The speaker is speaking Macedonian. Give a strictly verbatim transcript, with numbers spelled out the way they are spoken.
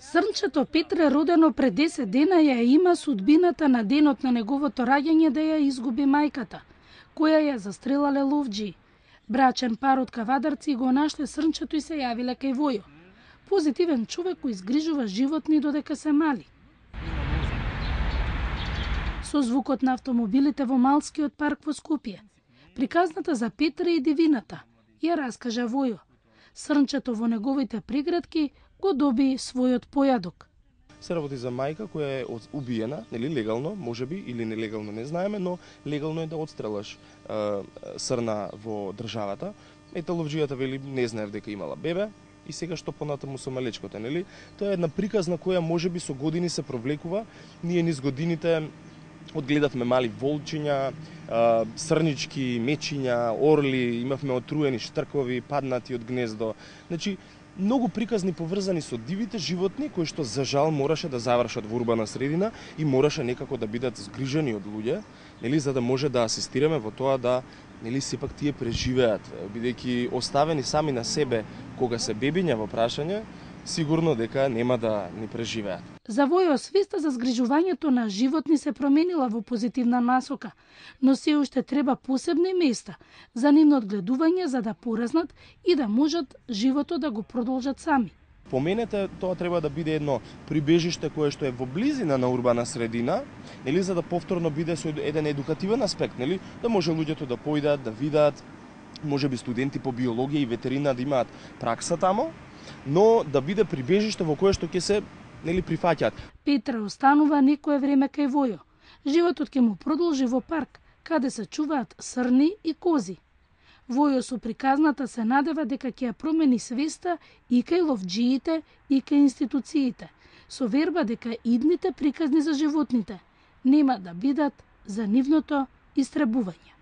Срнчето Петре, родено пред десет дена, ја има судбината на денот на неговото раѓање да ја изгуби мајката, која ја застрелале ловџии. Брачен пар од Кавадарци го нашле срнчето и се јавиле кај Војо. Позитивен човек кој изгрижува животни додека се мали. Со звукот на автомобилите во Малскиот парк во Скопје, приказната за Петре и дивината ја раскажа Војо. Срнчето во неговите приградки го доби својот појадок. Се работи за мајка која е убиена, нели легално, можеби или нелегално не знаеме, но легално е да отстрелаш е, срна во државата. Ете ловџијата вели не знаев дека имала бебе и сега што понатаму со малечкото, нели? Тоа е една приказна која можеби со години се провлекува. Ние низ годините одгледавме мали волчиња, срнички, мечиња, орли, имавме отруени штркови, паднати од гнездо. Значи, многу приказни поврзани со дивите животни кои што за жал мораше да завршат во урбана средина и мораше некако да бидат згрижани од луѓе, нели, за да може да асистираме во тоа да, нели, сепак тие преживеат, бидејќи оставени сами на себе кога се бебиња во прашање, сигурно дека нема да ни преживеат. За Војо свеста за згрижувањето на животни се променила во позитивна насока, но се уште треба посебни места за нивно одгледување за да пораснат и да можат животот да го продолжат сами. По мене тоа треба да биде едно прибежиште кое што е во близина на урбана средина, нели, за да повторно биде со еден едукативен аспект, нели, да може луѓето да појдат, да видат, можеби студенти по биологија и ветерина да имаат пракса тамо, но да биде прибежиште во кое што ќе се, нели, прифаќаат. Петре останува некое време кај Војо. Животот ќе му продолжи во парк, каде се чуваат срни и кози. Војо со приказната се надева дека ќе ја промени свеста и кај ловџиите и кај институциите, со верба дека идните приказни за животните нема да бидат за нивното истребување.